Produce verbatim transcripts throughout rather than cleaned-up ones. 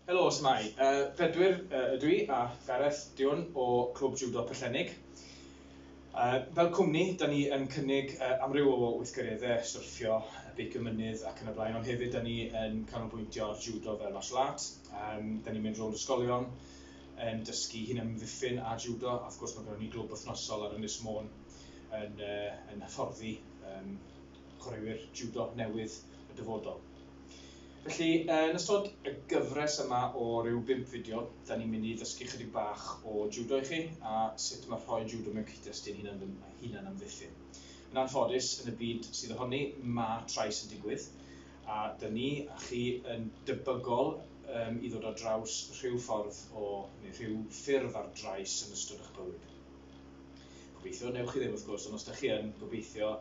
Helo, s'mai. Uh, Bedwyr uh, ydw i a Gareth Diwn o Clwb Judo Pellennig. Uh, fel cwmni, da ni yn cynnig uh, amryw o weithgareddau, syrffio, beicio mynydd ac yn y blaen, ond hefyd da ni yn canolbwyntio ar judo fel martial art. Um, da ni'n mynd rownd ysgolion yn dysgu hunan-amddiffyn a judo, a wrth gwrs mae gennym ni glwb wythnosol ar Ynys Môn yn, uh, yn hyfforddi um, chwaraewyr judo newydd y dyfodol. Felly, yn ystod y gyfres yma o ryw bump fideo, da ni'n mynd i ddysgu chydig bach o judo i chi a sut mae rhoi judo mewn cyd-destun hunan, hunan amddiffyn. Yn anffodus, yn y byd sydd ohoni, mae trais yn digwydd, a da ni a chi yn debygol um, i ddod ar draws rhyw ffordd o, neu rhyw ffurf ar drais yn ystod eich bywyd. Gobeithio, newch chi ddim wrth gwrs, ond os da chi yn, gobeithio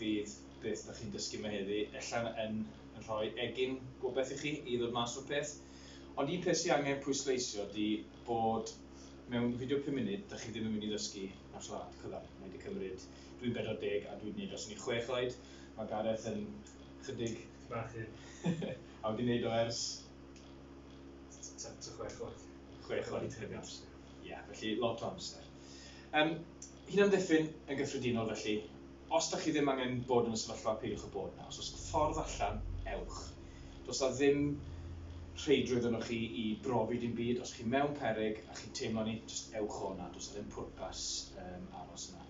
fydd beth da chi'n dysgu yma heddi, ella yn yn rhoi egin gobeith i chi i ddod mas o'r peth. Ond un peth sydd angen pwysleisio ydy bod mewn fideo pum munud, da chi ddim yn mynd i ddysgu martial art cyfan. Mae wedi cymryd, dwi'n bedwar deg a dwi'n gwneud os o'n i chwech oed. Mae Gareth yn chydig bach hyn. A wedi gwneud o ers tua chwech oed. Chwech oed hefyd. Ie, yeah, felly lot o amser. Um, Hunan-amddiffyn yn gyffredinol felly, os da chi ddim angen bod yn y sefyllfa, peidiwch â bod yna. Os oes ffordd allan, ewch. Does na ddim rheidrwydd yno chi i brofi dim byd. Os chi mewn peryg a chi'n teimlo ni, just ewch o 'na. Does na ddim pwrpas um, aros yna.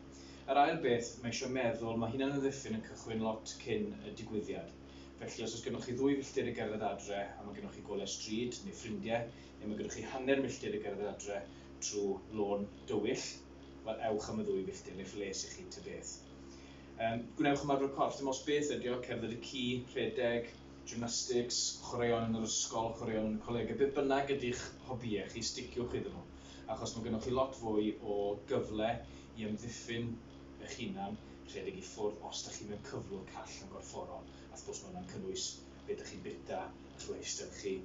Yr ail beth, mae eisiau meddwl, mae hunan amddiffyn yn cychwyn lot cyn y digwyddiad. Felly os oes gennych chi ddwy filltir i gerdded adre a mae gennych chi golau stryd neu ffrindiau, neu mae gennych chi hanner milltir i gerdded adre trwy lôn dywyll, wel ewch am y ddwy filltir neu lles i chi ta beth. Um, gwnewch ymarfer corff, dim os beth ydi o, cerdded y ci, rhedeg, gymnastics, chwaraeon yn yr ysgol, chwaraeon yn y colegau, beth bynnag ydy'ch hobïau chi, sticiwch iddyn nhw. Achos mae gennych chi lot fwy o gyfle i amddiffyn eich hunan, rhedeg i ffwrdd os da chi mewn cyflwr call yn gorfforol. A wrth gwrs mae hwnna'n cynnwys beth ydych chi'n bita, eich lifestyle chi,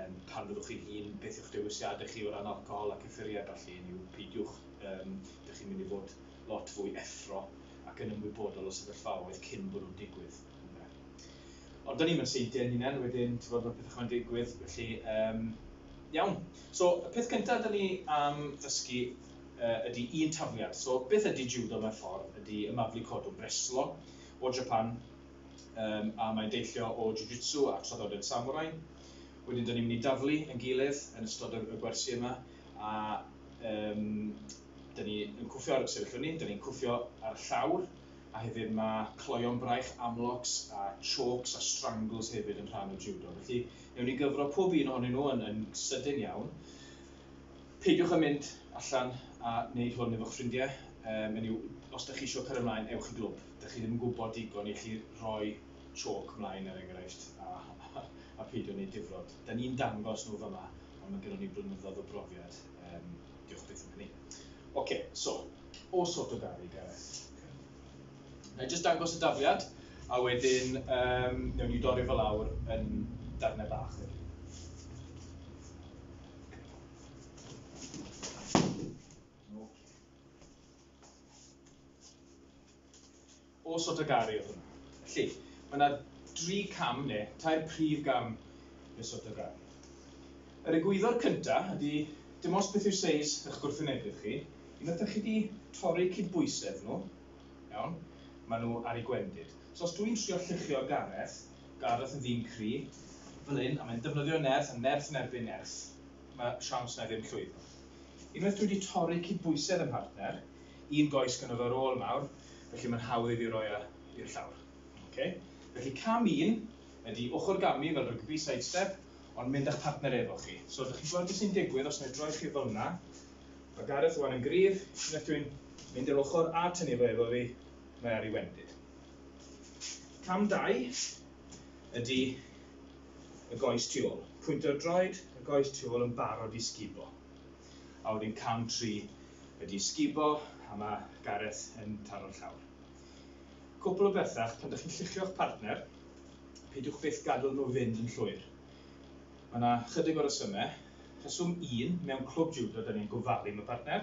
um, pan fyddwch chi'n hun, beth yw'ch dewisiadau chi o ran alcohol a cyffuriau felly, yw peidiwch, um, ydych chi'n mynd i fod lot fwy effro ac yn ymwybodol o sefyllfaoedd cyn bod nhw'n digwydd. Ond da ni'n mynd seintiau yn hunain, wedyn ti'n bod, mae pethau chwa'n digwydd, felly um, iawn. So, y peth cyntaf da ni am ddysgu uh, ydy un tafliad. So, beth ydy judo mewn ffordd ydy ymaflu codwm reslo o Japan, um, a mae'n deillio o jiu-jitsu a traddodiad samurai. Wedyn, da ni'n mynd i daflu yn gilydd yn ystod y, y gwersi yma, a um, da ni yn cwffio ar sefyll fyny, da ni'n cwffio ar y llawr, a hefyd mae cloion braich, armlocks a chokes a strangles hefyd yn rhan o judo. Felly, newn ni gyfro pob un ohonyn nhw yn, yn sydyn iawn. Peidiwch â mynd allan a wneud hwn efo'ch ffrindiau. Um, yw, os da chi eisiau cael ymlaen, ewch i glwb. Da chi ddim yn gwybod digon i chi roi choke ymlaen er enghraifft a, a, a peidio wneud difrod. Da ni'n dangos nhw fyma, ond mae gennym ni blynyddoedd o brofiad. Um, diolch byth am hynny. Oce, okay, so, o Sotogari, Gareth. Na i jyst dangos y dafliad, a wedyn um, newn ni dorri fel lawr yn darnau bach. Okay. O Sotogari oedd hwnna. Felly, mae yna dri cam neu tair prif gam i'r Sotogari. Yr egwyddor cyntaf ydy, dim ots beth yw seis eich gwrthwynebydd chi, unwaith ydych chi wedi torri cydbwysedd nhw, iawn, maen nhw ar eu gwendid. So os dwi'n trio lluchio Gareth, Gareth yn ddyn cry, fel hyn, a mae'n defnyddio nerth, a nerth yn erbyn nerth, mae siawns na ddim llwyddo. Unwaith dwi wedi torri cydbwysedd ym mhartner, un goes gynno fe ar ôl mawr, felly mae'n hawdd i fi roi e i'r llawr. Okay? Felly cam un ydy ochr gamu fel rygbi side step, ond mynd â'ch partner efo chi. So ydych chi'n gweld beth sy'n digwydd os wna i droi chi fel yna. Mae Gareth wan yn gryf, unwaith dwi'n mynd i'r ochr a tynnu fo efo fi, mae ar ei wendid. Cam dau ydy y goes tu ôl. Pwyntio'r droed, y goes tu ôl yn barod i sgubo. A wedyn cam tri ydy sgubo, a mae Gareth yn taro'r llawr. Cwpl o bethau, pan ydych chi'n lluchio'ch partner, peidiwch byth gadael nhw fynd yn llwyr. Mae yna chydig o resymau. Rheswm un, mewn clwb judo, da ni'n gofalu am y partner.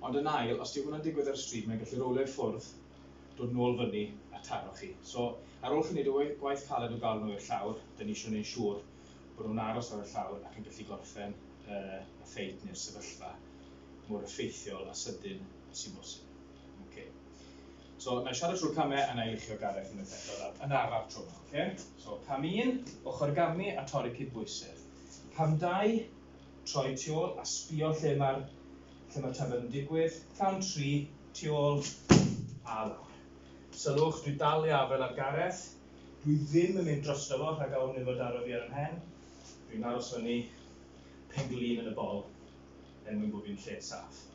Ond yn ail, os di hwnna'n digwydd ar y stryd, mae'n gallu rowlio i ffwrdd, dod nôl fyny a taro chi. So, ar ôl chi wneud y gwaith caled o gael nhw i'r llawr, da ni eisiau gwneud siŵr bod nhw'n aros ar y llawr ac yn gallu gorffen uh, y ffeit neu'r sefyllfa mor effeithiol a sydyn sy'n bosib. Okay. So, na i siarad trwy'r camau a na i luchio Gareth unwaith eto yn araf tro yma. Okay? So, cam un, ochr gamu a torri cydbwysedd. Cam dau, troi tu ôl a sbio lle mae'r lle mae'r tafod yn digwydd. Cam tri, tu ôl a lawr. Sylwch, dwi dal i afael ar Gareth. Dwi ddim yn mynd drosto fo rhag ofn iddo fo daro fi ar 'y mhen. Dwi'n aros fyny penglin yn y bol er mwyn bod fi'n lle saff.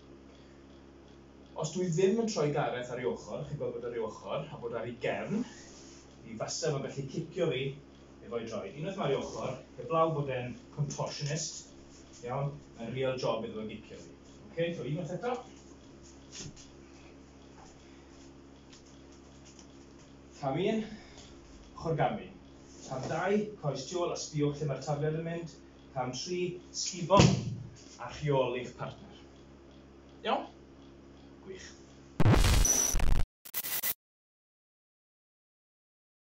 Os dwi ddim yn troi Gareth ar ei ochr, chi'n gweld bod ar ei ochr, a bod ar ei gefn, mi fasa fo'n gallu cicio fi efo'i droed. Unwaith mae ar ei ochr, heblaw bod e'n contortionist, iawn, mae'n real job iddo fo gicio fi. Okay, so unwaith eto. Cam un, ochr gamu. Cam dau, coes tu ôl a sbïwch lle mae'r tafliad yn mynd. Cam tri, sgubo a rheoli'ch partner. Iawn? Gwych.